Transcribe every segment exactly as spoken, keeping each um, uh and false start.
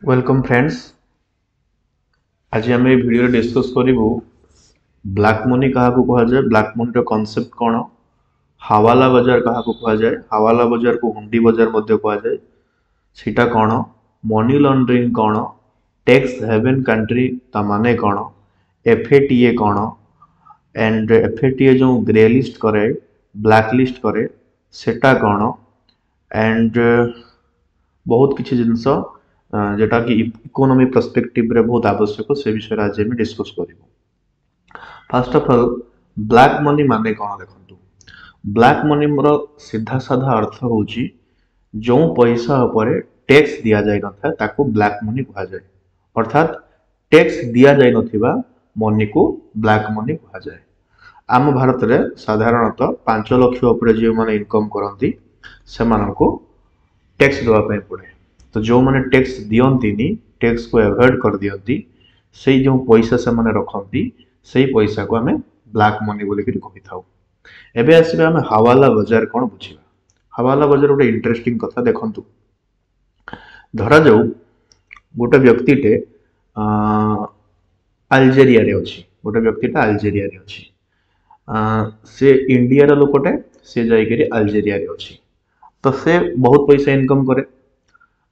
Welcome friends, ଆଜି ଆମେ ଏଇ ଭିଡ଼ିଓରେ ଡିସ୍କସ୍ କରିବୁ ବ୍ଲାକ୍ ମନି କାହାକୁ କୁହାଯାଏ, ବ୍ଲାକ୍ ମନିର କନସେପ୍ଟ କ'ଣ, ହାୱାଲା ବଜାର କାହାକୁ କୁହାଯାଏ, ହାୱାଲା ବଜାରକୁ ହୁଣ୍ଡି ବଜାର ମଧ୍ୟ କୁହାଯାଏ, ସେଇଟା କ'ଣ, ମନି ଲଣ୍ଡରିଂ କ'ଣ, ଟ୍ୟାକ୍ସ ହେଭେନ୍ କଣ୍ଟ୍ରି ତା ମାନେ କ'ଣ, ଏଫ୍ ଏ ଟି ଏ କ'ଣ, ଆଣ୍ଡ ଏଫ୍ ଏ ଟି ଏ ଯେଉଁ ଗ୍ରେ ଲିଷ୍ଟ କରେ, ବ୍ଲାକ୍ ଲିଷ୍ଟ କରେ, ସେଟା କ'ଣ, ଆଣ୍ଡ ବହୁତ କିଛି ଜିନିଷ ଯେଟା କି ଇକୋନୋମି ପର୍ସପେକ୍ଟିଭରେ ବହୁତ ଆବଶ୍ୟକ, ସେ ବିଷୟରେ ଆଜି ଆମେ ଡିସ୍କସ୍ କରିବୁ। First of all, black money ମାନେ କ'ଣ ଦେଖନ୍ତୁ। ବ୍ଲାକ୍ ମନିର ସିଧା ସାଧା ଅର୍ଥ ହେଉଛି ଯେଉଁ ପଇସା ଉପରେ ଟ୍ୟାକ୍ସ ଦିଆଯାଇନଥାଏ ତାକୁ ବ୍ଲାକ୍ ମନି କୁହାଯାଏ। ଅର୍ଥାତ୍ ଟ୍ୟାକ୍ସ ଦିଆଯାଇନଥିବା ମନିକୁ ବ୍ଲାକ୍ ମନି କୁହାଯାଏ। ଆମ ଭାରତରେ ସାଧାରଣତଃ ପାଞ୍ଚ ଲକ୍ଷ ଉପରେ ଯେଉଁମାନେ ଇନକମ୍ କରନ୍ତି ସେମାନଙ୍କୁ ଟ୍ୟାକ୍ସ ଦେବା ପାଇଁ ପଡ଼େ। ତ ଯେଉଁମାନେ ଟ୍ୟାକ୍ସ ଦିଅନ୍ତିନି, ଟ୍ୟାକ୍ସକୁ ଆଭଏଡ଼ କରିଦିଅନ୍ତି, ସେଇ ଯେଉଁ ପଇସା ସେମାନେ ରଖନ୍ତି ସେଇ ପଇସାକୁ ଆମେ ବ୍ଲାକ୍ ମନି ବୋଲିକିରି କହିଥାଉ। ଏବେ ଆସିବା ଆମେ ହାୱାଲା ବଜାର କ'ଣ ବୁଝିବା। ହାୱାଲା ବଜାର ଗୋଟେ ଇଣ୍ଟରେଷ୍ଟିଂ କଥା। ଦେଖନ୍ତୁ, ଧରାଯାଉ ଗୋଟେ ବ୍ୟକ୍ତିଟେ ଆଲଜେରିଆରେ ଅଛି, ଗୋଟେ ବ୍ୟକ୍ତିଟା ଆଲଜେରିଆରେ ଅଛି, ସେ ଇଣ୍ଡିଆର ଲୋକଟେ, ସେ ଯାଇକରି ଆଲଜେରିଆରେ ଅଛି। ତ ସେ ବହୁତ ପଇସା ଇନକମ୍ କରେ।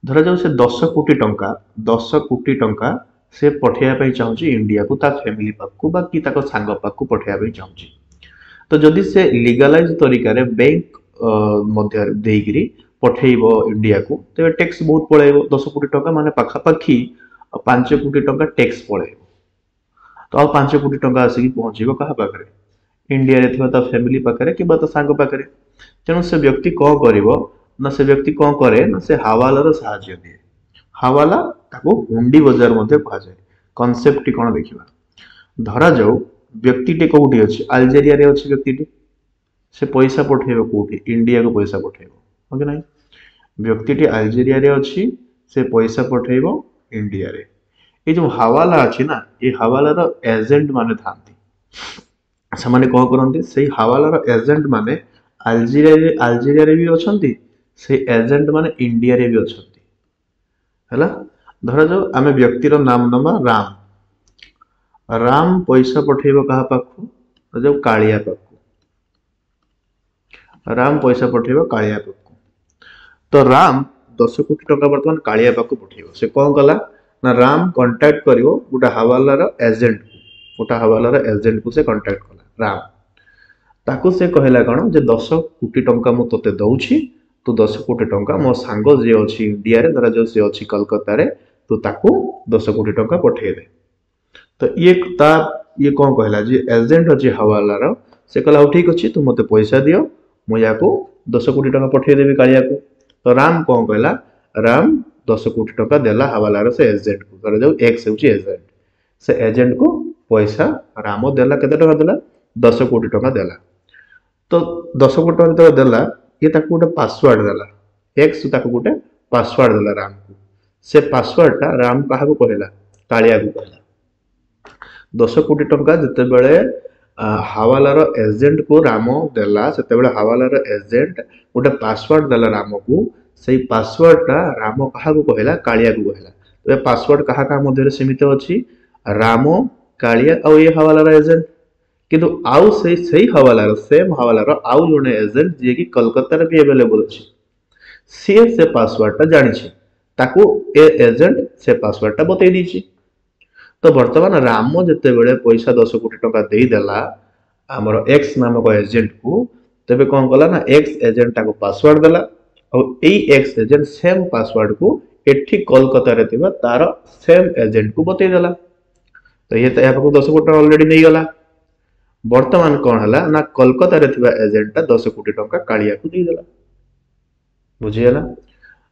ଧରାଯାଉ ସେ ଦଶ କୋଟି ଟଙ୍କା ଦଶ କୋଟି ଟଙ୍କା ସେ ପଠେଇବା ପାଇଁ ଚାହୁଁଛି ଇଣ୍ଡିଆକୁ, ତା ଫ୍ୟାମିଲି ପାଖକୁ ବା କି ତାଙ୍କ ସାଙ୍ଗ ପାଖକୁ ପଠେଇବା ପାଇଁ ଚାହୁଁଛି। ତ ଯଦି ସେ ଲିଗାଲାଇଜ ତରିକାରେ ବ୍ୟାଙ୍କ ମଧ୍ୟରେ ଦେଇକିରି ପଠେଇବ ଇଣ୍ଡିଆକୁ, ତେବେ ଟ୍ୟାକ୍ସ ବହୁତ ପଳେଇବ। ଦଶ କୋଟି ଟଙ୍କା ମାନେ ପାଖାପାଖି ପାଞ୍ଚ କୋଟି ଟଙ୍କା ଟ୍ୟାକ୍ସ ପଳେଇବ। ତ ଆଉ ପାଞ୍ଚ କୋଟି ଟଙ୍କା ଆସିକି ପହଞ୍ଚିବ କାହା ପାଖରେ? ଇଣ୍ଡିଆରେ ଥିବା ତା ଫ୍ୟାମିଲି ପାଖରେ କିମ୍ବା ତା ସାଙ୍ଗ ପାଖରେ। ତେଣୁ ସେ ବ୍ୟକ୍ତି କ'ଣ କରିବ ନା, ସେ ବ୍ୟକ୍ତି କ'ଣ କରେ ନା, ସେ ହାୱାଲାର ସାହାଯ୍ୟ ନିଏ। ହାୱାଲା ତାକୁ ହୁଣ୍ଡି ବଜାର ମଧ୍ୟ କୁହାଯାଏ। କନସେପ୍ଟଟି କ'ଣ ଦେଖିବା। ଧରାଯାଉ ବ୍ୟକ୍ତିଟି କୋଉଠି ଅଛି? ଆଲଜେରିଆରେ ଅଛି ବ୍ୟକ୍ତିଟି। ସେ ପଇସା ପଠେଇବ କୋଉଠି? ଇଣ୍ଡିଆକୁ ପଇସା ପଠେଇବ, ହଁ କି ନାହିଁ? ବ୍ୟକ୍ତିଟି ଆଲଜେରିଆରେ ଅଛି, ସେ ପଇସା ପଠେଇବ ଇଣ୍ଡିଆରେ। ଏଇ ଯେଉଁ ହାୱାଲା ଅଛି ନା, ଏ ହାୱାଲାର ଏଜେଣ୍ଟ ମାନେ ଥାନ୍ତି, ସେମାନେ କ'ଣ କରନ୍ତି, ସେଇ ହାୱାଲାର ଏଜେଣ୍ଟ ମାନେ ଆଲଜେରିଆରେ ଆଲଜେରିଆରେ ବି ଅଛନ୍ତି, ସେଇ ଏଜେଣ୍ଟ ମାନେ ଇଣ୍ଡିଆରେ ବି ଅଛନ୍ତି। ହେଲା, ଧରାଯାଉ ଆମେ ବ୍ୟକ୍ତିର ନାମ ନେବା ରାମ। ରାମ ପଇସା ପଠେଇବ କାହା ପାଖକୁ? ଧରାଯାଉ କାଳିଆ ପାଖକୁ। ରାମ ପଇସା ପଠେଇବ କାଳିଆ ପାଖକୁ। ତ ରାମ ଦଶ କୋଟି ଟଙ୍କା ବର୍ତ୍ତମାନ କାଳିଆ ପାଖକୁ ପଠେଇବ। ସେ କ'ଣ କଲା ନା, ରାମ କଣ୍ଟାକ୍ଟ କରିବ ଗୋଟେ ହାୱାଲାର ଏଜେଣ୍ଟକୁ, ଗୋଟେ ହାୱାଲାର ଏଜେଣ୍ଟକୁ ସେ କଣ୍ଟାକ୍ଟ କଲା ରାମ। ତାକୁ ସେ କହିଲା କ'ଣ ଯେ ଦଶ କୋଟି ଟଙ୍କା ମୁଁ ତୋତେ ଦଉଛି, ତୁ ଦଶ କୋଟି ଟଙ୍କା ମୋ ସାଙ୍ଗ ଯିଏ ଅଛି ଇଣ୍ଡିଆରେ, ଧରାଯାଉ ସିଏ ଅଛି କଲକାତାରେ, ତୁ ତାକୁ ଦଶ କୋଟି ଟଙ୍କା ପଠେଇଦେ। ତ ଇଏ ତା ଇଏ କ'ଣ କହିଲା, ଯିଏ ଏଜେଣ୍ଟ ଅଛି ହାୱାଲାର, ସେ କହିଲା ହଉ ଠିକ ଅଛି, ତୁ ମୋତେ ପଇସା ଦିଅ, ମୁଁ ୟାକୁ ଦଶ କୋଟି ଟଙ୍କା ପଠେଇଦେବି କାଳିଆକୁ। ତ ରାମ କ'ଣ କହିଲା, ରାମ ଦଶ କୋଟି ଟଙ୍କା ଦେଲା ହାୱାଲାର ସେ ଏଜେଣ୍ଟକୁ। ଧରାଯାଉ ଏକ୍ସ ହେଉଛି ଏଜେଣ୍ଟ, ସେ ଏଜେଣ୍ଟକୁ ପଇସା ରାମ ଦେଲା। କେତେ ଟଙ୍କା ଦେଲା? ଦଶ କୋଟି ଟଙ୍କା ଦେଲା। ତ ଦଶ କୋଟି ଟଙ୍କା ଯେତେବେଳେ ଦେଲା, ଇଏ ତାକୁ ଗୋଟେ ପାସୱାର୍ଡ ଦେଲା, ଏକ୍ସ ତାକୁ ଗୋଟେ ପାସୱାର୍ଡ ଦେଲା ରାମକୁ। ସେ ପାସୱାର୍ଡଟା ରାମ କାହାକୁ କହିଲା? କାଳିଆକୁ କହିଲା। ଦଶ କୋଟି ଟଙ୍କା ଯେତେବେଳେ ହାୱାଲାର ଏଜେଣ୍ଟକୁ ରାମ ଦେଲା, ସେତେବେଳେ ହାୱାଲାର ଏଜେଣ୍ଟ ଗୋଟେ ପାସୱାର୍ଡ ଦେଲା ରାମକୁ। ସେଇ ପାସୱାର୍ଡଟା ରାମ କାହାକୁ କହିଲା? କାଳିଆକୁ କହିଲା। ତେବେ ପାସୱାର୍ଡ କାହା କାହା ମଧ୍ୟରେ ସୀମିତ ଅଛି? ରାମ, କାଳିଆ ଆଉ ଏ ହାୱାଲାର ଏଜେଣ୍ଟ। କିନ୍ତୁ ଆଉ ସେଇ ସେଇ ହାୱାଲାର ସେମ୍ ହାୱାଲାର ଆଉ ଜଣେ ଏଜେଣ୍ଟ ଯିଏକି କଲକାତାରେ ବି ଆଭେଲେବଲ ଅଛି, ସିଏ ସେ ପାସୱାର୍ଡଟା ଜାଣିଛି, ତାକୁ ଏ ଏଜେଣ୍ଟ ସେ ପାସୱାର୍ଡଟା ବତେଇ ଦେଇଛି। ତ ବର୍ତ୍ତମାନ ରାମ ଯେତେବେଳେ ପଇସା ଦଶ କୋଟି ଟଙ୍କା ଦେଇଦେଲା ଆମର ଏକ୍ସ ନାମକ ଏଜେଣ୍ଟକୁ, ତେବେ କ'ଣ କଲା ନା, ଏକ୍ସ ଏଜେଣ୍ଟ ତାକୁ ପାସୱାର୍ଡ ଦେଲା, ଆଉ ଏଇ ଏକ୍ସ ଏଜେଣ୍ଟ ସେମ୍ ପାସୱାର୍ଡକୁ ଏଠି କଲକାତାରେ ଥିବା ତାର ସେମ୍ ଏଜେଣ୍ଟକୁ ବତେଇ ଦେଲା। ତ ଇଏ ତ ଏହା ପାଖକୁ ଦଶ କୋଟି ଟଙ୍କା ଅଲରେଡି ନେଇଗଲା। ବର୍ତ୍ତମାନ କ'ଣ ହେଲା ନା, କଲକାତାରେ ଥିବା ଏଜେଣ୍ଟଟା ଦଶ କୋଟି ଟଙ୍କା କାଳିଆକୁ ଦେଇଦେଲା। ବୁଝିଗଲା?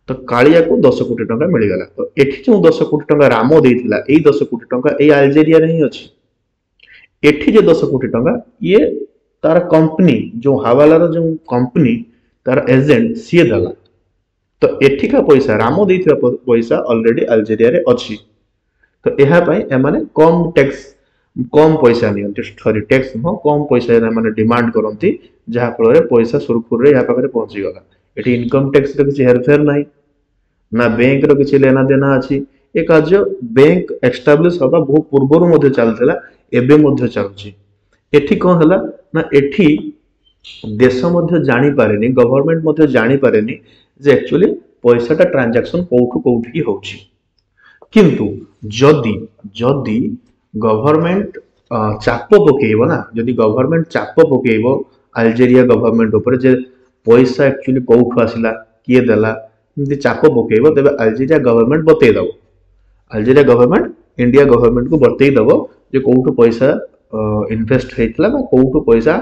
ତ କାଳିଆକୁ ଦଶ କୋଟି ଟଙ୍କା ମିଳିଗଲା। ତ ଏଠି ଯେଉଁ ଦଶ କୋଟି ଟଙ୍କା ରାମ ଦେଇଥିଲା, ଏଇ ଦଶ କୋଟି ଟଙ୍କା ଏଇ ଆଲଜେରିଆରେ ହିଁ ଅଛି। ଏଠି ଯେ ଦଶ କୋଟି ଟଙ୍କା ଇଏ ତାର କମ୍ପାନୀ, ଯେଉଁ ହାୱାଲାର ଯେଉଁ କମ୍ପାନୀ, ତାର ଏଜେଣ୍ଟ ସିଏ ଦେଲା। ତ ଏଠିକା ପଇସା, ରାମ ଦେଇଥିବା ପଇସା ଅଲରେଡି ଆଲଜେରିଆରେ ଅଛି। ତ ଏହା ପାଇଁ ଏମାନେ କମ ଟ୍ୟାକ୍ସ, କମ ପଇସା ନିଅନ୍ତି, ସରି ଟ୍ୟାକ୍ସ ନୁହଁ, କମ ପଇସା ଏମାନେ ଡିମାଣ୍ଡ କରନ୍ତି, ଯାହାଫଳରେ ପଇସା ସୁରୁଖୁରୁରେ ଏହା ପାଖରେ ପହଞ୍ଚିଗଲା। ଏଠି ଇନକମ୍ ଟ୍ୟାକ୍ସର କିଛି ହେରଫେର ନାହିଁ, ନା ବ୍ୟାଙ୍କର କିଛି ଲେନା ଦେନା ଅଛି। ଏ କାର୍ଯ୍ୟ ବ୍ୟାଙ୍କ ଏଷ୍ଟାବ୍ଲିଶ ହବା ବହୁ ପୂର୍ବରୁ ମଧ୍ୟ ଚାଲିଥିଲା, ଏବେ ମଧ୍ୟ ଚାଲୁଛି। ଏଠି କଣ ହେଲା ନା ଏଠି ଦେଶ ମଧ୍ୟ ଜାଣିପାରେନି, ଗଭର୍ଣ୍ଣମେଣ୍ଟ ମଧ୍ୟ ଜାଣିପାରେନି ଯେ ଆକ୍ଚୁଆଲି ପଇସାଟା ଟ୍ରାଞ୍ଜାକ୍ସନ କୋଉଠୁ କୋଉଠିକି ହଉଛି। କିନ୍ତୁ ଯଦି ଯଦି ଗଭର୍ଣ୍ଣମେଣ୍ଟ ଚାପ ପକେଇବ ନା, ଯଦି ଗଭର୍ଣ୍ଣମେଣ୍ଟ ଚାପ ପକେଇବ ଆଲଜେରିଆ ଗଭର୍ଣ୍ଣମେଣ୍ଟ ଉପରେ ଯେ ପଇସା ଆକ୍ଚୁଆଲି କୋଉଠୁ ଆସିଲା, କିଏ ଦେଲା, ଏମିତି ଚାପ ପକେଇବ, ତେବେ ଆଲଜେରିଆ ଗଭର୍ଣ୍ଣମେଣ୍ଟ ବତେଇ ଦବ। ଆଲଜେରିଆ ଗଭର୍ଣ୍ଣମେଣ୍ଟ ଇଣ୍ଡିଆ ଗଭର୍ଣ୍ଣମେଣ୍ଟକୁ ବତେଇ ଦବ ଯେ କୋଉଠୁ ପଇସା ଇନଭେଷ୍ଟ ହେଇଥିଲା ବା କୋଉଠୁ ପଇସା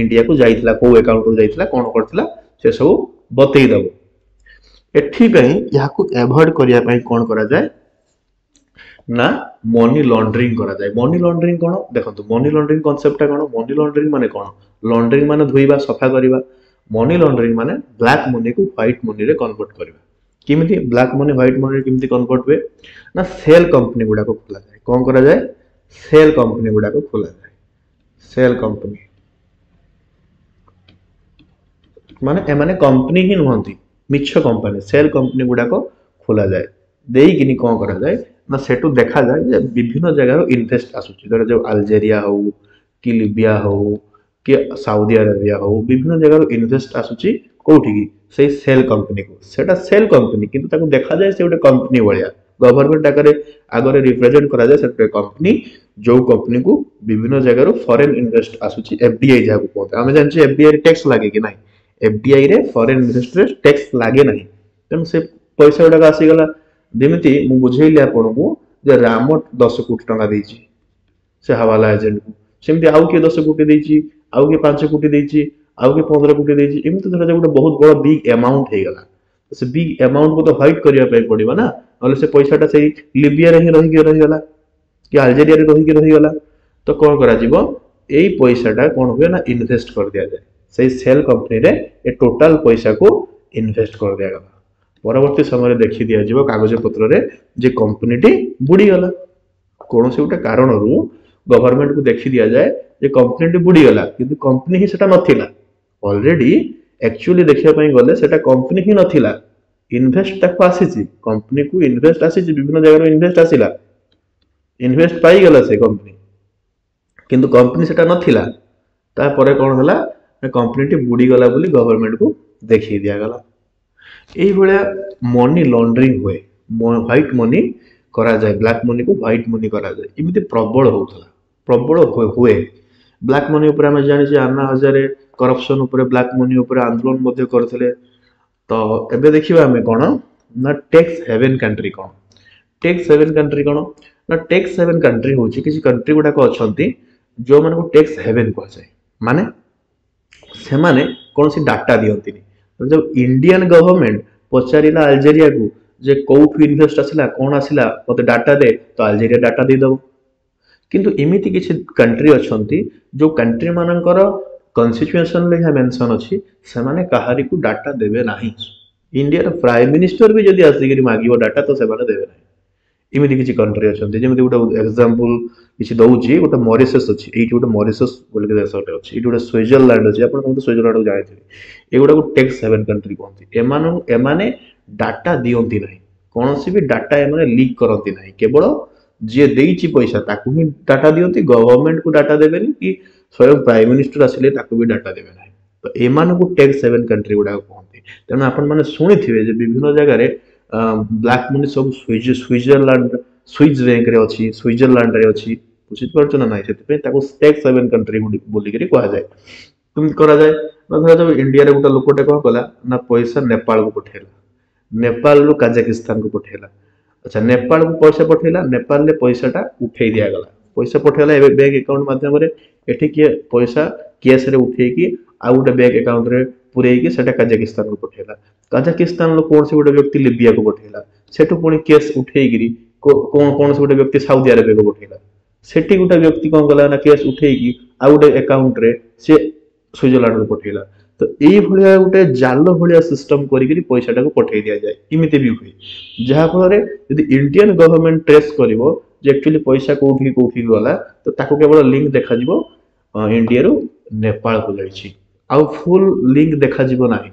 ଇଣ୍ଡିଆକୁ ଯାଇଥିଲା, କୋଉ ଆକାଉଣ୍ଟରୁ ଯାଇଥିଲା, କଣ କରିଥିଲା, ସେ ସବୁ ବତେଇ ଦବ। ଏଥିପାଇଁ ଏହାକୁ ଆଭଏଡ କରିବା ପାଇଁ କଣ କରାଯାଏ ନା ମନି ଲଣ୍ଡରିଂ କରାଯାଏ। ମନି ଲଣ୍ଡରିଂ କଣ? ଦେଖନ୍ତୁ, ମନି ଲଣ୍ଡରିଂ କନସେପ୍ଟଟା କଣ? ମନି ଲଣ୍ଡରିଂ ମାନେ କଣ? ଲଣ୍ଡରିଂ ମାନେ ଧୋଇବା, ସଫା କରିବା। ମନି ଲଣ୍ଡରିଂ ମାନେ ବ୍ଲାକ୍ ମନିକୁ ହ୍ୱାଇଟ୍ ମନିରେ କନଭର୍ଟ କରିବା। କେମିତି ବ୍ଲାକ୍ ମନି ହ୍ୱାଇଟ୍ ମନିରେ କେମିତି କନଭର୍ଟ ହୁଏ ନା ସେଲ୍ କମ୍ପାନୀ ଗୁଡାକ ଖୋଲାଯାଏ। କଣ କରାଯାଏ? ସେଲ୍ କମ୍ପାନୀ ଗୁଡାକ ଖୋଲାଯାଏ। ସେଲ୍ କମ୍ପାନୀ ମାନେ ଏମାନେ କମ୍ପାନୀ ହିଁ ନୁହନ୍ତି, ମିଛ କମ୍ପାନୀ। ସେଲ୍ କମ୍ପାନୀ ଗୁଡାକ ଖୋଲାଯାଏ। ଦେଇକିନି କଣ କରାଯାଏ ନା ସେଠୁ ଦେଖାଯାଏ ଯେ ବିଭିନ୍ନ ଜାଗାରୁ ଇନଭେଷ୍ଟ ଆସୁଛି। ଧର ଯୋଉ ଆଲଜେରିଆ ହଉ କି ଲିବିଆ ହଉ କି ସାଉଦି ଆରବିଆ ହଉ, ବିଭିନ୍ନ ଜାଗାରୁ ଇନଭେଷ୍ଟ ଆସୁଛି କୋଉଠିକି? ସେଇ ସେଲ୍ କମ୍ପାନୀକୁ। ସେଟା ସେଲ୍ କମ୍ପାନୀ, କିନ୍ତୁ ତାକୁ ଦେଖାଯାଏ ସେ ଗୋଟେ କମ୍ପାନୀ ଭଳିଆ। ଗଭର୍ଣ୍ଣମେଣ୍ଟ ଆଗରେ ଆଗରେ ରିପ୍ରେଜେଣ୍ଟ କରାଯାଏ ସେଟା ଗୋଟେ କମ୍ପାନୀ, ଯୋଉ କମ୍ପାନୀକୁ ବିଭିନ୍ନ ଜାଗାରୁ ଫରେନ୍ ଇନଭେଷ୍ଟ ଆସୁଛି, ଏଫଡିଆଇ ଯାହାକୁ କୁହନ୍ତି। ଆମେ ଜାଣିଛେ ଏଫଡିଆଇ ରେ ଟ୍ୟାକ୍ସ ଲାଗେ କି ନାହିଁ? ଏଫଡିଆଇ ରେ ଫରେନ୍ ଇନଭେଷ୍ଟରେ ଟ୍ୟାକ୍ସ ଲାଗେ ନାହିଁ। ତେଣୁ ସେ ପଇସା ଗୁଡାକ ଆସିଗଲା। ଯେମିତି ମୁଁ ବୁଝେଇଲି ଆପଣଙ୍କୁ ଯେ ରାମ ଦଶ କୋଟି ଟଙ୍କା ଦେଇଛି ସେ ହାୱାଲା ଏଜେଣ୍ଟକୁ, ସେମିତି ଆଉ କିଏ ଦଶ କୋଟି ଦେଇଛି, ଆଉ କିଏ ପାଞ୍ଚ କୋଟି ଦେଇଛି, ଆଉ କିଏ ପନ୍ଦର କୋଟି ଦେଇଛି। ଏମିତି ଧରାଯାଉ ଗୋଟେ ବହୁତ ବଡ ବିଗ୍ ଆମାଉଣ୍ଟ ହେଇଗଲା। ସେ ବିଗ୍ ଆମାଉଣ୍ଟକୁ ତ ହ୍ୱାଇଟ୍ କରିବା ପାଇଁ ପଡିବ ନା, ନହେଲେ ସେ ପଇସାଟା ସେଇ ଲିବିଆରେ ହିଁ ରହିକି ରହିଗଲା କି ଆଲଜେରିଆରେ ରହିକି ରହିଗଲା। ତ କଣ କରାଯିବ, ଏଇ ପଇସାଟା କଣ ହୁଏ ନା ଇନଭେଷ୍ଟ କରିଦିଆଯାଏ ସେଇ ସେଲ୍ କମ୍ପାନୀରେ। ଏ ଟୋଟାଲ ପଇସାକୁ ଇନଭେଷ୍ଟ କରିଦିଆଗଲା। ପରବର୍ତ୍ତୀ ସମୟରେ ଦେଖି ଦିଆଯିବ କାଗଜ ପତ୍ରରେ ଯେ କମ୍ପାନୀଟି ବୁଡିଗଲା। କୌଣସି ଗୋଟେ କାରଣରୁ ଗଭର୍ଣ୍ଣମେଣ୍ଟକୁ ଦେଖି ଦିଆଯାଏ ଯେ କମ୍ପାନୀଟି ବୁଡିଗଲା, କିନ୍ତୁ କମ୍ପାନୀ ହିଁ ସେଟା ନଥିଲା। ଅଲରେଡି ଆକ୍ଚୁଆଲି ଦେଖିବା ପାଇଁ ଗଲେ ସେଟା କମ୍ପାନୀ ହିଁ ନଥିଲା। ଇନଭେଷ୍ଟ ତାକୁ ଆସିଛି, କମ୍ପାନୀକୁ ଇନଭେଷ୍ଟ ଆସିଛି, ବିଭିନ୍ନ ଜାଗାରୁ ଇନଭେଷ୍ଟ ଆସିଲା, ଇନଭେଷ୍ଟ ପାଇଗଲା ସେ କମ୍ପାନୀ, କିନ୍ତୁ କମ୍ପାନୀ ସେଟା ନଥିଲା। ତାପରେ କଣ ହେଲା ନା କମ୍ପାନୀଟି ବୁଡିଗଲା ବୋଲି ଗଭର୍ଣ୍ଣମେଣ୍ଟକୁ ଦେଖେଇ ଦିଆଗଲା। ଏଇଭଳିଆ ମନି ଲଣ୍ଡରିଂ ହୁଏ, ହ୍ୱାଇଟ୍ ମନି କରାଯାଏ, ବ୍ଲାକ୍ ମନିକୁ ହ୍ୱାଇଟ୍ ମନି କରାଯାଏ। ଏମିତି ପ୍ରବଳ ହଉଥିଲା, ପ୍ରବଳ ହୁଏ। ବ୍ଲାକ୍ ମନି ଉପରେ ଆମେ ଜାଣିଛେ ଆନ୍ନା ହଜାରେ କରପସନ ଉପରେ, ବ୍ଲାକ୍ ମନି ଉପରେ ଆନ୍ଦୋଳନ ମଧ୍ୟ କରିଥିଲେ। ତ ଏବେ ଦେଖିବା ଆମେ କଣ ନା ଟ୍ୟାକ୍ସ ହେଭେନ୍ କଣ୍ଟ୍ରି କଣ। ଟ୍ୟାକ୍ସ ହେଭେନ୍ କଣ୍ଟ୍ରି କଣ ନା ଟ୍ୟାକ୍ସ ହେଭେନ୍ କଣ୍ଟ୍ରି ହଉଛି କିଛି କଣ୍ଟ୍ରି ଗୁଡାକ ଅଛନ୍ତି ଯୋଉମାନଙ୍କୁ ଟ୍ୟାକ୍ସ ହେଭେନ୍ କୁହାଯାଏ। ମାନେ ସେମାନେ କୌଣସି ଡାଟା ଦିଅନ୍ତିନି। ଯୋଉ ଇଣ୍ଡିଆନ ଗଭର୍ଣ୍ଣମେଣ୍ଟ ପଚାରିଲା ଆଲଜେରିଆକୁ ଯେ କୋଉଠୁ ଇନଭେଷ୍ଟ ଆସିଲା, କଣ ଆସିଲା, ମତେ ଡାଟା ଦେ, ତ ଆଲଜେରିଆ ଡାଟା ଦେଇଦବ। କିନ୍ତୁ ଏମିତି କିଛି କଣ୍ଟ୍ରି ଅଛନ୍ତି ଯୋଉ କଣ୍ଟ୍ରି ମାନଙ୍କର କନଷ୍ଟିଟ୍ୟୁସନରେ ଏହା ମେନସନ ଅଛି, ସେମାନେ କାହାରିକୁ ଡାଟା ଦେବେ ନାହିଁ। ଇଣ୍ଡିଆର ପ୍ରାଇମ ମିନିଷ୍ଟର ବି ଯଦି ଆସିକିରି ମାଗିବ ଡାଟା, ତ ସେମାନେ ଦେବେ ନାହିଁ। ଏମିତି କିଛି କଣ୍ଟ୍ରି ଅଛନ୍ତି। ଯେମିତି ଗୋଟେ ଏକ୍ସାମ୍ପଲ କିଛି ଦଉଛି, ଗୋଟେ ମରିସସ୍ ଅଛି, ଏଇଠି ଗୋଟେ ମରିସସ୍ ବୋଲି ଦେଶଟେ ଅଛି, ଏଇଠି ଗୋଟେ ସୁଇଜରଲ୍ୟାଣ୍ଡ ଅଛି, ଆପଣ ସମସ୍ତେ ସୁଇଜରଲ୍ୟାଣ୍ଡକୁ ଜାଣିଥିବେ। ଏଗୁଡାକୁ ଟ୍ୟାକ୍ସ ହେଭେନ୍ କଣ୍ଟ୍ରି କୁହନ୍ତି। ଏମାନଙ୍କୁ ଏମାନେ ଡାଟା ଦିଅନ୍ତି ନାହିଁ, କୌଣସି ବି ଡାଟା ଏମାନେ ଲିକ୍ କରନ୍ତି ନାହିଁ। କେବଳ ଯିଏ ଦେଇଛି ପଇସା ତାକୁ ହିଁ ଡାଟା ଦିଅନ୍ତି, ଗଭର୍ଣ୍ଣମେଣ୍ଟକୁ ଡାଟା ଦେବେନି କି ସ୍ୱୟଂ ପ୍ରାଇମ ମିନିଷ୍ଟର ଆସିଲେ ତାକୁ ବି ଡାଟା ଦେବେ ନାହିଁ। ତ ଏମାନଙ୍କୁ ଟ୍ୟାକ୍ସ ହେଭେନ୍ କଣ୍ଟ୍ରି ଗୁଡାକ କୁହନ୍ତି। ତେଣୁ ଆପଣମାନେ ଶୁଣିଥିବେ ଯେ ବିଭିନ୍ନ ଜାଗାରେ ବ୍ଲାକ୍ ମନି ସବୁ ସୁଇଜରଲ୍ୟାଣ୍ଡ, ସୁଇଜ ବ୍ୟାଙ୍କରେ ଅଛି, ସୁଇଜରଲ୍ୟାଣ୍ଡରେ ଅଛି, ବୁଝିପାରୁଛ ନା ନାହିଁ? ସେଥିପାଇଁ ତାକୁ ଟ୍ୟାକ୍ସ ହେଭେନ୍ କଣ୍ଟ୍ରି ବୋଲିକିରି କୁହାଯାଏ। କେମିତି କରାଯାଏ ନା ଧରାଯାଉ ଇଣ୍ଡିଆରେ ଗୋଟେ ଲୋକଟେ କଣ କଲା ନା ପଇସା ନେପାଳକୁ ପଠେଇଲା, ନେପାଳରୁ କାଜାକିସ୍ତାନକୁ ପଠେଇଲା। ଆଚ୍ଛା, ନେପାଳକୁ ପଇସା ପଠେଇଲା, ନେପାଳରେ ପଇସାଟା ଉଠେଇ ଦିଆଗଲା। ପଇସା ପଠେଇଲା ଏବେ ବ୍ୟାଙ୍କ ଆକାଉଣ୍ଟ ମାଧ୍ୟମରେ, ଏଠି କିଏ ପଇସା କ୍ୟାସରେ ଉଠେଇକି ଆଉ ଗୋଟେ ବ୍ୟାଙ୍କ ଆକାଉଣ୍ଟରେ ପୁରେଇକି ସେଟା କାଜାକିସ୍ତାନକୁ ପଠେଇଲା। କାଜାକିସ୍ତାନର କୌଣସି ଗୋଟେ ବ୍ୟକ୍ତି ଲିବିଆକୁ ପଠେଇଲା, ସେଠୁ ପୁଣି କ୍ୟାସ୍ ଉଠେଇକିରି କୌଣସି ଗୋଟେ ବ୍ୟକ୍ତି ସାଉଦି ଆରବିଆକୁ ପଠେଇଲା। ସେଠି ଗୋଟେ ବ୍ୟକ୍ତି କଣ କଲା ନା କ୍ୟାସ୍ ଉଠେଇକି ଆଉ ଗୋଟେ ଆକାଉଣ୍ଟରେ ସେ ସୁଇଜରଲ୍ୟାଣ୍ଡକୁ ପଠେଇଲା। ତ ଏଇଭଳିଆ ଗୋଟେ ଜାଲ ଭଳିଆ ସିଷ୍ଟମ କରିକିରି ପଇସାଟାକୁ ପଠେଇ ଦିଆଯାଏ। ଏମିତି ବି ହୁଏ, ଯାହାଫଳରେ ଯଦି ଇଣ୍ଡିଆନ ଗଭର୍ଣ୍ଣମେଣ୍ଟ ଟ୍ରେସ୍ କରିବ ଯେ ଆକ୍ଚୁଆଲି ପଇସା କୋଉଠି କୋଉଠି ଗଲା, ତ ତାକୁ କେବଳ ଲିଙ୍କ ଦେଖାଯିବ ଇଣ୍ଡିଆରୁ ନେପାଳକୁ ଯାଇଛି, ଆଉ ଫୁଲ ଲିଙ୍କ ଦେଖାଯିବ ନାହିଁ।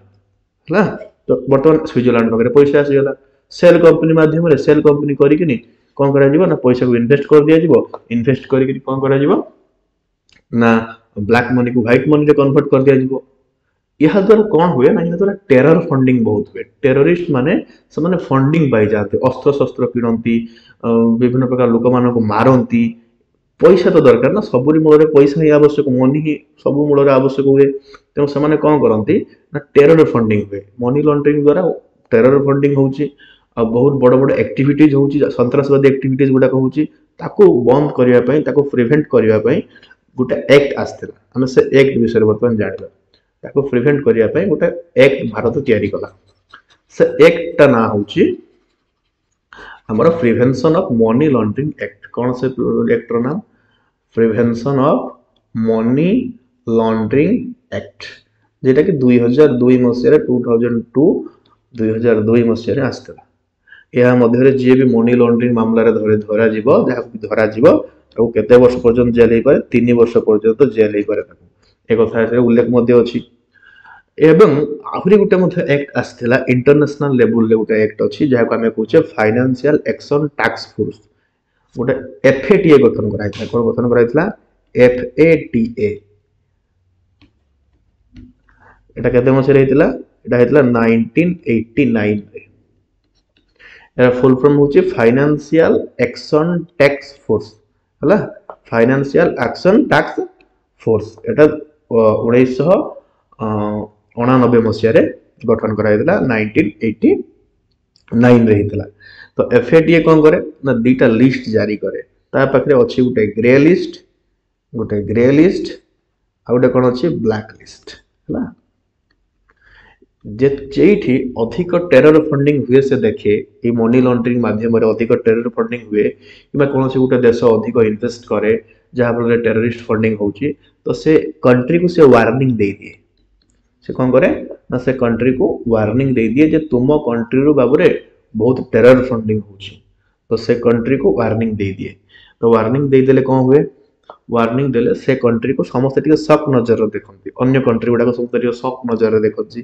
ହେଲା, ତ ବର୍ତ୍ତମାନ ସୁଇଜରଲ୍ୟାଣ୍ଡ ପାଖରେ ପଇସା ଆସିଗଲା, ସେଲ୍ କମ୍ପାନୀ ମାଧ୍ୟମରେ ସେଲ୍ କମ୍ପାନୀ କରିକିନି କ'ଣ କରାଯିବ ନା ପଇସାକୁ ଇନଭେଷ୍ଟ କରିଦିଆଯିବ। ଇନଭେଷ୍ଟ କରିକିନି କ'ଣ କରାଯିବ ନା ବ୍ଲାକ୍ ମନିକୁ ହ୍ୱାଇଟ୍ ମନିରେ କନଭର୍ଟ କରିଦିଆଯିବ। ଏହାଦ୍ୱାରା କ'ଣ ହୁଏ ନା ଏହାଦ୍ୱାରା ଟେରର ଫଣ୍ଡିଂ ବହୁତ ହୁଏ। ଟେରରିଷ୍ଟ ମାନେ ସେମାନେ ଫଣ୍ଡିଂ ପାଇଯାଆନ୍ତି, ଅସ୍ତ୍ରଶସ୍ତ୍ର କିଣନ୍ତି, ବିଭିନ୍ନ ପ୍ରକାର ଲୋକମାନଙ୍କୁ ମାରନ୍ତି। ପଇସା ତ ଦରକାର ନା, ସବୁରି ମୂଳରେ ପଇସା ହିଁ ଆବଶ୍ୟକ, ମନି ହିଁ ସବୁ ମୂଳରେ ଆବଶ୍ୟକ ହୁଏ। ତେଣୁ ସେମାନେ କ'ଣ କରନ୍ତି ନା ଟେରର ଫଣ୍ଡିଂ ହୁଏ। ମନି ଲଣ୍ଡରିଂ ଦ୍ୱାରା ଟେରର ଫଣ୍ଡିଂ ହେଉଛି, ଆଉ ବହୁତ ବଡ଼ ବଡ଼ ଆକ୍ଟିଭିଟିଜ୍ ହେଉଛି, ସନ୍ତ୍ରାସବାଦୀ ଆକ୍ଟିଭିଟିଜ୍ ଗୁଡ଼ାକ ହେଉଛି। ତାକୁ ବନ୍ଦ କରିବା ପାଇଁ, ତାକୁ ପ୍ରିଭେଣ୍ଟ କରିବା ପାଇଁ ଗୋଟେ ଆକ୍ଟ ଆସିଥିଲା। ଆମେ ସେ ଆକ୍ଟ ବିଷୟରେ ବର୍ତ୍ତମାନ ଜାଣିବା। ତାକୁ ପ୍ରିଭେଣ୍ଟ କରିବା ପାଇଁ ଗୋଟେ ଆକ୍ଟ ଭାରତ ତିଆରି କଲା। ସେ ଆକ୍ଟଟା ନାଁ ହେଉଛି ଆମର prevention of money laundering act. କ'ଣ ସେ ଆକ୍ଟର ନାମ? Prevention of money laundering act, ଯେଉଁଟାକି ଦୁଇ ହଜାର ଦୁଇ ମସିହାରେ, ଟୁ ଥାଉଜେଣ୍ଡ ଟୁ ଦୁଇ ହଜାର ଦୁଇ ମସିହାରେ ଆସିଥିଲା। ଏହା ମଧ୍ୟରେ ଯିଏ ବି ମନି ଲଣ୍ଡରିଂ ମାମଲାରେ ଧରି ଧରାଯିବ, ଯାହାକୁ ବି ଧରାଯିବ, ତାକୁ କେତେ ବର୍ଷ ପର୍ଯ୍ୟନ୍ତ ଜେଲ୍ ହେଇପାରେ? ତିନି ବର୍ଷ ପର୍ଯ୍ୟନ୍ତ ଜେଲ୍ ହେଇପାରେ ତାକୁ। ଏ କଥା ଏଥିରେ ଉଲ୍ଲେଖ ମଧ୍ୟ ଅଛି। ଏବଂ ଆହୁରି ଗୋଟେ ମଧ୍ୟ ଆକ୍ଟ ଆସିଥିଲା, ଇଣ୍ଟରନ୍ୟାସନାଲ ଲେବୁଲରେ ଗୋଟେ ଆକ୍ଟ ଅଛି, ଯାହାକୁ ଆମେ କହୁଛେ ଫାଇନାନ୍ସିଆଲ ଆକ୍ସନ ଟାସ୍କ ଫୋର୍ସ। ଗୋଟେ ଏଫ୍ଏଟିଏ ଗଠନ କରାଯାଇଥିଲା। କ'ଣ ଗଠନ କରାଯାଇଥିଲା? ଏଫ୍ଏଟିଏ। ଏଟା କେତେ ମସିହାରେ ହେଇଥିଲା? ଏଟା ହେଇଥିଲା ନାଇନଟିନ୍ ଏଇଟି ନାଇନରେ। ଏହାର ଫୁଲ ଫର୍ମ ହେଉଛି ଫାଇନାନ୍ସିଆଲ ଆକ୍ସନ ଟାସ୍କ ଫୋର୍ସ। ହେଲା, ଫାଇନାନ୍ସିଆଲ ଆକ୍ସନ ଟାସ୍କ ଫୋର୍ସ। ଏଟା ଉଣେଇଶହ ଅଣାନବେ ମସିହାରେ ଗଠନ କରାଯାଇଥିଲା, ନାଇନଟିନ୍ ଏଇଟି ନାଇନରେ ହେଇଥିଲା। ତ ଏଫ୍ଏଟିଏ କ'ଣ କରେ ନା ଦିଟା ଲିଷ୍ଟ ଜାରି କରେ। ତା ପାଖରେ ଅଛି ଗୋଟେ ଗ୍ରେ ଲିଷ୍ଟ, ଗୋଟେ ଗ୍ରେ ଲିଷ୍ଟ ଆଉ ଗୋଟେ କ'ଣ ଅଛି, ବ୍ଲାକ୍ ଲିଷ୍ଟ। ହେଲା, ଯେ ଯେଉଁଠି ଅଧିକ ଟେରର ଫଣ୍ଡିଂ ହୁଏ ସେ ଦେଖେ, ଏଇ ମନି ଲଣ୍ଡରିଂ ମାଧ୍ୟମରେ ଅଧିକ ଟେରର ଫଣ୍ଡିଂ ହୁଏ କିମ୍ବା କୌଣସି ଗୋଟେ ଦେଶ ଅଧିକ ଇନଭେଷ୍ଟ କରେ ଯାହାଫଳରେ ଟେରରିଷ୍ଟ ଫଣ୍ଡିଂ ହେଉଛି, ତ ସେ କଣ୍ଟ୍ରିକୁ ସେ ୱାର୍ଣ୍ଣିଂ ଦେଇଦିଏ। ସେ କ'ଣ କରେ ନା ସେ କଣ୍ଟ୍ରିକୁ ୱାର୍ଣ୍ଣିଂ ଦେଇଦିଏ ଯେ ତୁମ କଣ୍ଟ୍ରିରୁ ବାବୁରେ ବହୁତ ଟେରର ଫଣ୍ଡିଂ ହେଉଛି। ତ ସେ କଣ୍ଟ୍ରିକୁ ୱାର୍ଣ୍ଣିଂ ଦେଇଦିଏ। ତ ୱାର୍ଣ୍ଣିଂ ଦେଇଦେଲେ କ'ଣ ହୁଏ? ୱାର୍ଣ୍ଣିଂ ଦେଲେ ସେ କଣ୍ଟ୍ରିକୁ ସମସ୍ତେ ଟିକେ ଶକ୍ ନଜରରେ ଦେଖନ୍ତି, ଅନ୍ୟ କଣ୍ଟ୍ରି ଗୁଡ଼ାକ ସମସ୍ତେ ଟିକେ ଶକ୍ ନଜରରେ ଦେଖନ୍ତି।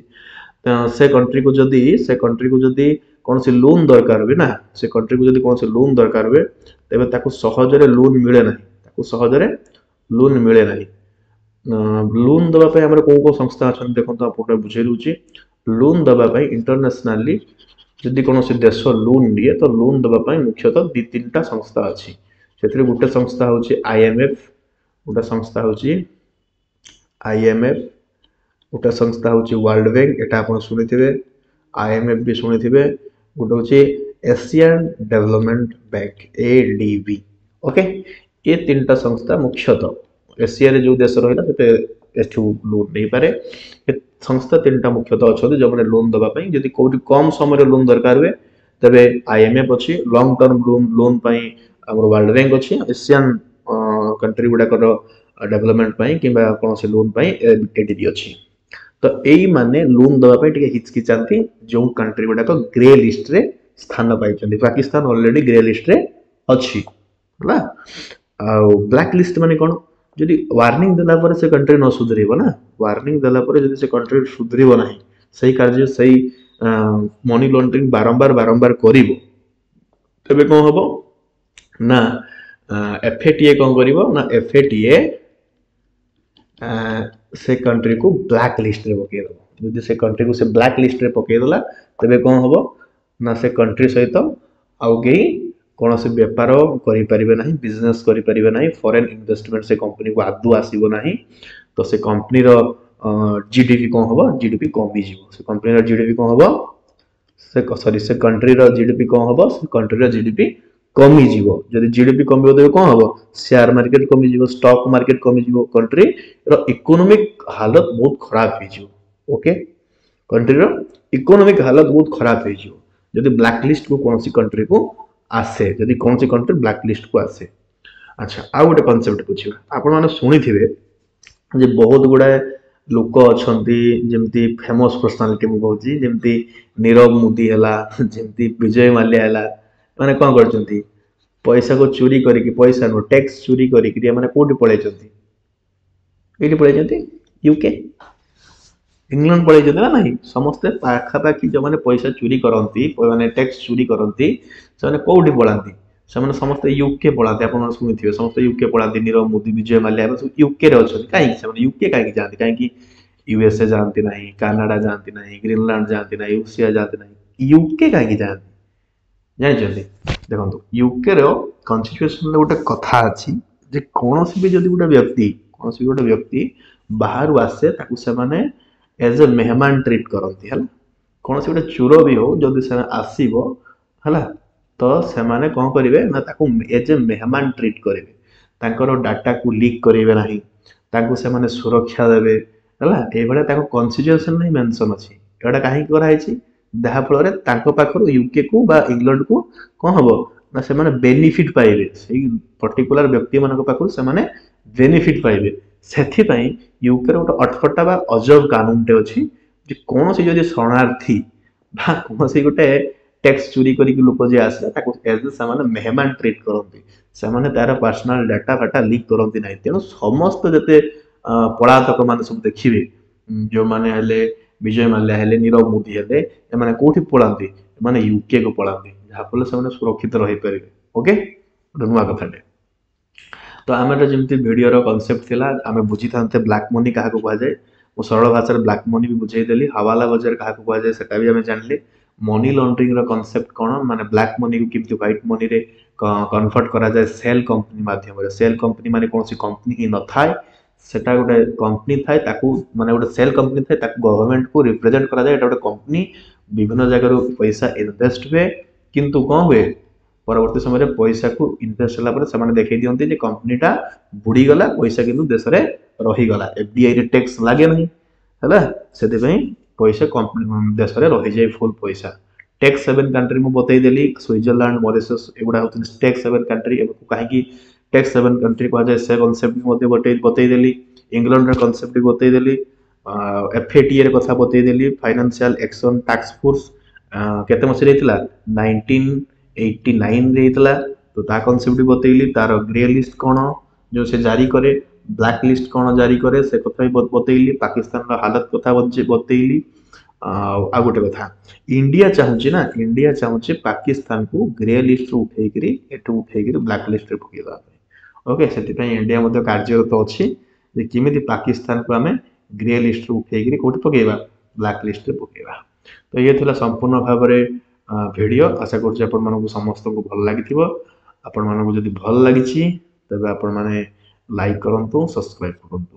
ସେ କଣ୍ଟ୍ରିକୁ ଯଦି ସେ କଣ୍ଟ୍ରିକୁ ଯଦି କୌଣସି ଲୋନ୍ ଦରକାର ହୁଏ ନା, ସେ କଣ୍ଟ୍ରିକୁ ଯଦି କୌଣସି ଲୋନ୍ ଦରକାର ହୁଏ, ତେବେ ତାକୁ ସହଜରେ ଲୋନ୍ ମିଳେ ନାହିଁ। ତାକୁ ସହଜରେ ଲୋନ୍ ମିଳେ ନାହିଁ। ଲୋନ୍ ଦେବା ପାଇଁ ଆମର କେଉଁ କେଉଁ ସଂସ୍ଥା ଅଛନ୍ତି ଦେଖନ୍ତୁ, ଆପଣଙ୍କୁ ବୁଝେଇ ଦେଉଛି। ଲୋନ୍ ଦେବା ପାଇଁ ଇଣ୍ଟରନ୍ୟାସନାଲି ଯଦି କୌଣସି ଦେଶ ଲୋନ୍ ନିଏ, ତ ଲୋନ୍ ଦେବା ପାଇଁ ମୁଖ୍ୟତଃ ଦୁଇ ତିନିଟା ସଂସ୍ଥା ଅଛି। ସେଥିରେ ଗୋଟେ ସଂସ୍ଥା ହେଉଛି ଆଇଏମ୍ଏଫ୍, ଗୋଟେ ସଂସ୍ଥା ହେଉଛି ଆଇଏମ୍ଏଫ୍, ଗୋଟେ ସଂସ୍ଥା ହେଉଛି ୱାର୍ଲଡ ବ୍ୟାଙ୍କ, ଏଟା ଆପଣ ଶୁଣିଥିବେ, ଆଇଏମ୍ଏଫ୍ ବି ଶୁଣିଥିବେ, ଗୋଟେ ହେଉଛି Asian development bank ADB. Okay, ଏ ତିନିଟା ସଂସ୍ଥା ମୁଖ୍ୟତଃ ଏସିଆରେ ଯେଉଁ ଦେଶ ରହିଲା ସେତେ ଏଠୁ ଲୋନ୍ ନେଇପାରେ। ଏ ସଂସ୍ଥା ତିନିଟା ମୁଖ୍ୟତଃ ଅଛନ୍ତି ଯେଉଁମାନେ ଲୋନ୍ ଦେବା ପାଇଁ, ଯଦି କେଉଁଠି କମ୍ ସମୟରେ ଲୋନ୍ ଦରକାର ହୁଏ ତେବେ ଆଇଏମ୍ଏଫ୍ ଅଛି, ଲଙ୍ଗ ଟର୍ମ ଲୋନ୍ ଲୋନ୍ ପାଇଁ ଆମର ୱାର୍ଲଡ ବ୍ୟାଙ୍କ ଅଛି, ଏସିଆନ୍ କଣ୍ଟ୍ରି ଗୁଡ଼ାକର ଡେଭଲପମେଣ୍ଟ ପାଇଁ କିମ୍ବା କୌଣସି ଲୋନ୍ ପାଇଁ ଏଡିବି ଅଛି। ତ ଏଇମାନେ ଲୋନ୍ ଦେବା ପାଇଁ ଟିକେ ହିଚକିଚାନ୍ତି ଯେଉଁ କଣ୍ଟ୍ରି ଗୁଡ଼ାକ ଗ୍ରେ ଲିଷ୍ଟରେ ସ୍ଥାନ ପାଇଛନ୍ତି। ପାକିସ୍ତାନ ଅଲରେଡି ଗ୍ରେ ଲିଷ୍ଟରେ ଅଛି। ହେଲା, ଆଉ ବ୍ଲାକ୍ ଲିଷ୍ଟ ମାନେ କ'ଣ? ଯଦି ୱାର୍ଣ୍ଣିଂ ଦେଲା ପରେ ସେ କଣ୍ଟ୍ରି ନ ସୁଧରିବ ନା, ୱାର୍ଣ୍ଣିଂ ଦେଲା ପରେ ଯଦି ସେ କଣ୍ଟ୍ରି ସୁଧରିବ ନାହିଁ, ସେଇ କାର୍ଯ୍ୟ ସେଇ ମନି ଲଣ୍ଡରିଂ ବାରମ୍ବାର ବାରମ୍ବାର କରିବ, ତେବେ କ'ଣ ହବ ନା ଏଫ୍ଏଟିଏ କ'ଣ କରିବ ନା ଏଫ୍ଏଟିଏ ସେ କଣ୍ଟ୍ରିକୁ ବ୍ଲାକ୍ ଲିଷ୍ଟରେ ପକେଇଦେବ। ଯଦି ସେ କଣ୍ଟ୍ରିକୁ ସେ ବ୍ଲାକ୍ ଲିଷ୍ଟରେ ପକେଇଦେଲା, ତେବେ କ'ଣ ହବ ନା ସେ କଣ୍ଟ୍ରି ସହିତ ଆଉ କେହି କୌଣସି ବେପାର କରିପାରିବେ ନାହିଁ, ବିଜନେସ୍ କରିପାରିବେ ନାହିଁ, ଫରେନ୍ ଇନଭେଷ୍ଟମେଣ୍ଟ ସେ କମ୍ପାନୀକୁ ଆଦୌ ଆସିବ ନାହିଁ। ତ ସେ କମ୍ପାନୀର ଜିଡିପି କ'ଣ ହବ? ଜିଡିପି କମିଯିବ। ସେ କମ୍ପାନୀର ଜିଡିପି କ'ଣ ହବ? ସେ ସରି ସେ କଣ୍ଟ୍ରିର ଜିଡିପି କ'ଣ ହବ? ସେ କଣ୍ଟ୍ରିର ଜିଡିପି କମିଯିବ। ଯଦି ଜିଡିପି କମିବ ତେବେ କ'ଣ ହବ? ସେୟାର ମାର୍କେଟ କମିଯିବ, ଷ୍ଟକ୍ ମାର୍କେଟ କମିଯିବ, କଣ୍ଟ୍ରିର ଇକୋନୋମିକ ହାଲତ ବହୁତ ଖରାପ ହେଇଯିବ। ଓକେ, କଣ୍ଟ୍ରିର ଇକୋନୋମିକ ହାଲତ ବହୁତ ଖରାପ ହେଇଯିବ ଯଦି ବ୍ଲାକ୍ ଲିଷ୍ଟକୁ କୌଣସି କଣ୍ଟ୍ରିକୁ ଆସେ, ଯଦି କୌଣସି କଣ୍ଟ୍ରି ବ୍ଲାକ୍ ଲିଷ୍ଟକୁ ଆସେ। ଆଚ୍ଛା, ଆଉ ଗୋଟେ କନସେପ୍ଟ ବୁଝିବା। ଆପଣମାନେ ଶୁଣିଥିବେ ଯେ ବହୁତ ଗୁଡ଼ାଏ ଲୋକ ଅଛନ୍ତି, ଯେମିତି ଫେମସ୍ ପର୍ସନାଲିଟି ମୁଁ କହୁଛି, ଯେମିତି ନୀରବ ମୋଦି ହେଲା, ଯେମିତି ବିଜୟ ମାଲ୍ୟା ହେଲା, ମାନେ କ'ଣ କରିଛନ୍ତି? ପଇସାକୁ ଚୋରି କରିକି, ପଇସା ନୁହଁ ଟ୍ୟାକ୍ସ ଚୋରି କରିକିରି ଏମାନେ କୋଉଠି ପଳେଇଛନ୍ତି? ଏଇଠି ପଳେଇଛନ୍ତି, ୟୁକେ। ଇଂଲଣ୍ଡ ପଳେଇଛନ୍ତି ନା ନାହିଁ? ସମସ୍ତେ ପାଖାପାଖି ଯେଉଁମାନେ ପଇସା ଚୋରି କରନ୍ତି, ମାନେ ଟ୍ୟାକ୍ସ ଚୋରି କରନ୍ତି, ସେମାନେ କୋଉଠି ପଳାନ୍ତି? ସେମାନେ ସମସ୍ତେ ୟୁକେ ପଳାନ୍ତି। ଆପଣ ଶୁଣିଥିବେ, ସମସ୍ତେ ୟୁକେ ପଳାନ୍ତି। ନୀରବ ମୋଦି, ବିଜୟ ମାଲ୍ୟା, ଏମାନେ ସବୁ ୟୁକେରେ ଅଛନ୍ତି। କାହିଁକି ସେମାନେ ୟୁକେ କାହିଁକି ଯାଆନ୍ତି? କାହିଁକି ୟୁଏସଏ ଯାଆନ୍ତି ନାହିଁ, କାନାଡା ଯାଆନ୍ତି ନାହିଁ, ଗ୍ରୀନଲାଣ୍ଡ ଯାଆନ୍ତି ନାହିଁ, ରୁଷିଆ ଯାଆନ୍ତି ନାହିଁ, ୟୁକେ କାହିଁକି ଯାଆନ୍ତି ଜାଣିଛନ୍ତି? ଦେଖନ୍ତୁ, ୟୁକେର କନଷ୍ଟିଟ୍ୟୁସନରେ ଗୋଟେ କଥା ଅଛି ଯେ କୌଣସି ବି ଯଦି ଗୋଟେ ବ୍ୟକ୍ତି କୌଣସି ବି ଗୋଟେ ବ୍ୟକ୍ତି ବାହାରୁ ଆସେ, ତାକୁ ସେମାନେ ଏଜ୍ ଏ ମେହମାନ ଟ୍ରିଟ୍ କରନ୍ତି। ହେଲା, କୌଣସି ଗୋଟେ ଚୋର ବି ହଉ, ଯଦି ସେ ଆସିବ, ହେଲା, ତ ସେମାନେ କ'ଣ କରିବେ ନା ତାକୁ ଏଜ୍ ଏ ମେହମାନ ଟ୍ରିଟ୍ କରିବେ। ତାଙ୍କର ଡାଟାକୁ ଲିକ୍ କରିବେ ନାହିଁ, ତାଙ୍କୁ ସେମାନେ ସୁରକ୍ଷା ଦେବେ। ହେଲା, ଏଇଭଳିଆ ତାଙ୍କ କନଷ୍ଟିଟ୍ୟୁସନରେ ହିଁ ମେନସନ୍ ଅଛି। ଏଇଟା କାହିଁକି କରାହେଇଛି? ଯାହାଫଳରେ ତାଙ୍କ ପାଖରୁ ୟୁକେକୁ ବା ଇଂଲଣ୍ଡକୁ କ'ଣ ହବ ନା ସେମାନେ ବେନିଫିଟ୍ ପାଇବେ। ସେଇ ପର୍ଟିକୁଲାର ବ୍ୟକ୍ତିମାନଙ୍କ ପାଖରୁ ସେମାନେ ବେନିଫିଟ୍ ପାଇବେ। ସେଥିପାଇଁ ୟୁକେର ଗୋଟେ ଅଟପଟା ବା ଅଜବ କାନୁନଟେ ଅଛି ଯେ କୌଣସି ଯଦି ଶରଣାର୍ଥୀ ବା କୌଣସି ଗୋଟେ ଟ୍ୟାକ୍ସ ଚୋରି କରିକି ଲୋକ ଯିଏ ଆସିଲା, ତାକୁ ଏଜ୍ ସେମାନେ ମେହମାନ ଟ୍ରିଟ୍ କରନ୍ତି। ସେମାନେ ତାର ପର୍ସନାଲ ଡାଟା ଫାଟା ଲିକ୍ କରନ୍ତି ନାହିଁ। ତେଣୁ ସମସ୍ତ ଯେତେ ପଳାତକ ମାନେ ସବୁ ଦେଖିବେ, ଯେଉଁମାନେ ହେଲେ ବିଜୟ ମାଲ୍ୟା ହେଲେ, ନୀରବ ମୋଦି ହେଲେ, ଏମାନେ କୋଉଠି ପଳାନ୍ତି? ଏମାନେ ୟୁକେ କୁ ପଳାନ୍ତି, ଯାହାଫଳରେ ସେମାନେ ସୁରକ୍ଷିତ ରହିପାରିବେ। ଓକେ, ଗୋଟେ ନୂଆ କଥାଟେ। ତ ଆମର ଯେମିତି ଭିଡ଼ିଓର କନସେପ୍ଟ ଥିଲା, ଆମେ ବୁଝିଥାନ୍ତେ ବ୍ଲାକ୍ ମନି କାହାକୁ କୁହାଯାଏ। ମୁଁ ସରଳ ଭାଷାରେ ବ୍ଲାକ୍ ମନି ବି ବୁଝେଇଦେଲି। ହାୱାଲା ବଜାର କାହାକୁ କୁହାଯାଏ ସେଟା ବି ଆମେ ଜାଣିଲେ। ମନି ଲଣ୍ଡରିଂର କନସେପ୍ଟ କ'ଣ, ମାନେ ବ୍ଲାକ୍ ମନିକୁ କେମିତି ହ୍ୱାଇଟ୍ ମନିରେ କନଭର୍ଟ କରାଯାଏ ସେଲ୍ କମ୍ପାନୀ ମାଧ୍ୟମରେ। ସେଲ୍ କମ୍ପାନୀ ମାନେ କୌଣସି କମ୍ପାନୀ ହିଁ ନଥାଏ, ସେଟା ଗୋଟେ କମ୍ପାନୀ ଥାଏ, ତାକୁ ମାନେ ଗୋଟେ ସେଲ୍ କମ୍ପାନୀ ଥାଏ, ତାକୁ ଗଭର୍ଣ୍ଣମେଣ୍ଟକୁ ରିପ୍ରେଜେଣ୍ଟ କରାଯାଏ। ଏଇଟା ଗୋଟେ କମ୍ପାନୀ, ବିଭିନ୍ନ ଜାଗାରୁ ପଇସା ଇନଭେଷ୍ଟ ହୁଏ, କିନ୍ତୁ କ'ଣ ହୁଏ, ପରବର୍ତ୍ତୀ ସମୟରେ ପଇସାକୁ ଇନଭେଷ୍ଟ ହେଲା ପରେ ସେମାନେ ଦେଖେଇ ଦିଅନ୍ତି ଯେ କମ୍ପାନୀଟା ବୁଡ଼ିଗଲା, ପଇସା କିନ୍ତୁ ଦେଶରେ ରହିଗଲା। ଏଫଡିଆଇରେ ଟ୍ୟାକ୍ସ ଲାଗେ ନାହିଁ, ହେଲା, ସେଥିପାଇଁ ପଇସା କମ୍ପାନୀ ଦେଶରେ ରହିଯାଏ ଫୁଲ୍ ପଇସା। ଟ୍ୟାକ୍ସ ସେଭେନ୍ କଣ୍ଟ୍ରି ମୁଁ ବତେଇଦେଲି, ସୁଇଜରଲ୍ୟାଣ୍ଡ, ମରିସସ୍ ଏଗୁଡ଼ା ହେଉଛନ୍ତି ଟ୍ୟାକ୍ସ ସେଭେନ୍ କଣ୍ଟ୍ରି। ଏବଂ କାହିଁକି ଟ୍ୟାକ୍ସ ସେଭେନ୍ କଣ୍ଟ୍ରି କୁହାଯାଏ ସେ କନସେପ୍ଟ ବି ମଧ୍ୟ ବତେଇ ବତେଇଦେଲି। ଇଂଲଣ୍ଡର କନସେପ୍ଟ ବି ବତେଇଦେଲି। ଏଫ୍ଏଟିଏ ର କଥା ବତେଇଦେଲି। ଫାଇନାନ୍ସିଆଲ ଆକ୍ସନ ଟାସ୍କ ଫୋର୍ସ କେତେ ମସିହାରେ ହେଇଥିଲା? ନାଇନଟିନ୍ ଏଇଟି ନାଇନରେ ହେଇଥିଲା। ତ ତା କନସେପ୍ଟ ବି ବତେଇଲି। ତାର ଗ୍ରେ ଲିଷ୍ଟ କ'ଣ ଯେଉଁ ସେ ଜାରି କରେ, ବ୍ଲାକ୍ ଲିଷ୍ଟ କ'ଣ ଜାରି କରେ, ସେ କଥା ବି ବତେଇଲି। ପାକିସ୍ତାନର ହାଲତ କଥା ବତେଇଲି। ଆଉ ଆଉ ଗୋଟେ କଥା, ଇଣ୍ଡିଆ ଚାହୁଁଛି ନା, ଇଣ୍ଡିଆ ଚାହୁଁଛି ପାକିସ୍ତାନକୁ ଗ୍ରେ ଲିଷ୍ଟରୁ ଉଠେଇକିରି, ଏଠୁ ଉଠେଇକିରି ବ୍ଲାକ୍ ଲିଷ୍ଟରେ ପକେଇଦେବା ପାଇଁ। ଓକେ, ସେଥିପାଇଁ ଇଣ୍ଡିଆ ମଧ୍ୟ କାର୍ଯ୍ୟରତ ଅଛି ଯେ କେମିତି ପାକିସ୍ତାନକୁ ଆମେ ଗ୍ରେ ଲିଷ୍ଟରୁ ଉଠେଇକିରି କୋଉଠି ପକେଇବା, ବ୍ଲାକ୍ ଲିଷ୍ଟରେ ପକେଇବା। ତ ଇଏ ଥିଲା ସମ୍ପୂର୍ଣ୍ଣ ଭାବରେ ଭିଡ଼ିଓ। ଆଶା କରୁଛି ଆପଣମାନଙ୍କୁ ସମସ୍ତଙ୍କୁ ଭଲ ଲାଗିଥିବ। ଆପଣମାନଙ୍କୁ ଯଦି ଭଲ ଲାଗିଛି ତେବେ ଆପଣମାନେ ଲାଇକ୍ କରନ୍ତୁ, ସବସ୍କ୍ରାଇବ୍ କରନ୍ତୁ।